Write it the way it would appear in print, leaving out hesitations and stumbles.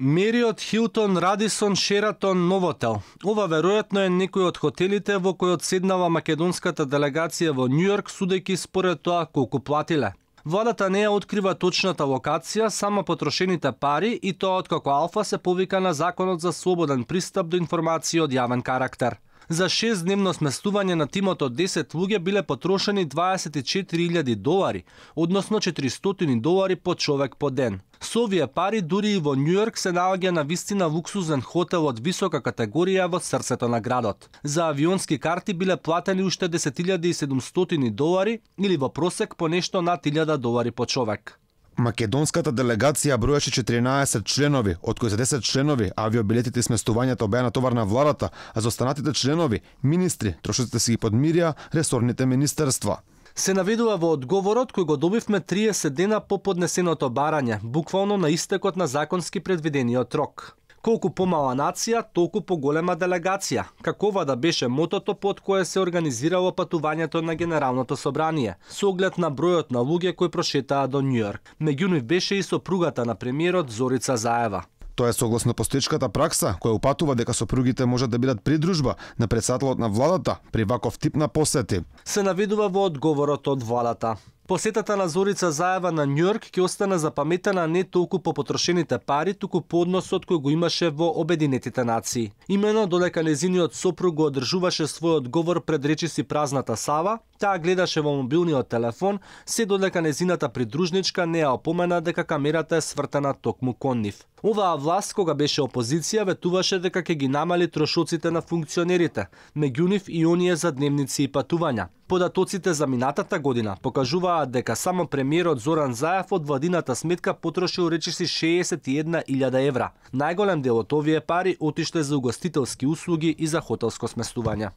Мериот, Хилтон, Радисон, Шератон, Новотел. Ова веројатно е некој од хотелите во кој одседнава македонската делегација во Њујорк, судејќи според тоа колку платиле. Владата не ја открива точната локација, само потрошените пари и тоа откако Алфа се повика на Законот за слободен пристап до информации од јавен карактер. За 6-дневно сместување на тимот од 10 луѓе биле потрошени $24,000, односно $400 по човек по ден. Со овие пари дури и во Њујорк се наоѓа на вистина луксузен хотел од висока категорија во срцето на градот. За авионски карти биле платени уште $10,700 или во просек по нешто над $1,000 по човек. Македонската делегација броеше 14 членови, од кои за 10 членови авиобилетите и сместувањето беа на товар на владата, а за останатите членови, министри, трошоците си ги подмирија ресорните министерства. Се наведува во одговорот кој го добивме 30 дена по поднесеното барање, буквално на истекот на законски предвидениот рок. Колку помала нација, толку поголема делегација. Какова да беше мотото под кое се организирало патувањето на Генералното собрание, со оглед на бројот на луѓе кои прошетаа до Њујорк. Меѓу нив беше и сопругата на премиерот Зорица Заева. Тоа е согласно постоечката пракса, која упатува дека сопругите можат да бидат придружба на претседателот на владата при ваков тип на посети. Се наведува во одговорот од владата. Посетата на Зорица Заева на Њујорк ќе остане запаметена не толку по потрошените пари, туку по односот кој го имаше во Обединетите нации. Имено додека нејзиниот сопруг го одржуваше својот говор пред речиси празната сава, таа гледаше во мобилниот телефон, се додека нејзината придружничка не ја опомена дека камерата е свртена токму кон нив. Оваа власт, кога беше опозиција, ветуваше дека ќе ги намали трошоците на функционерите, меѓу нив и оние за дневници и патувања. Податоците за минатата година покажуваат дека само премиерот Зоран Заев од владината сметка потрошил речиси €61,000. Најголем дел од овие пари отишле за угостителски услуги и за хотелско сместување.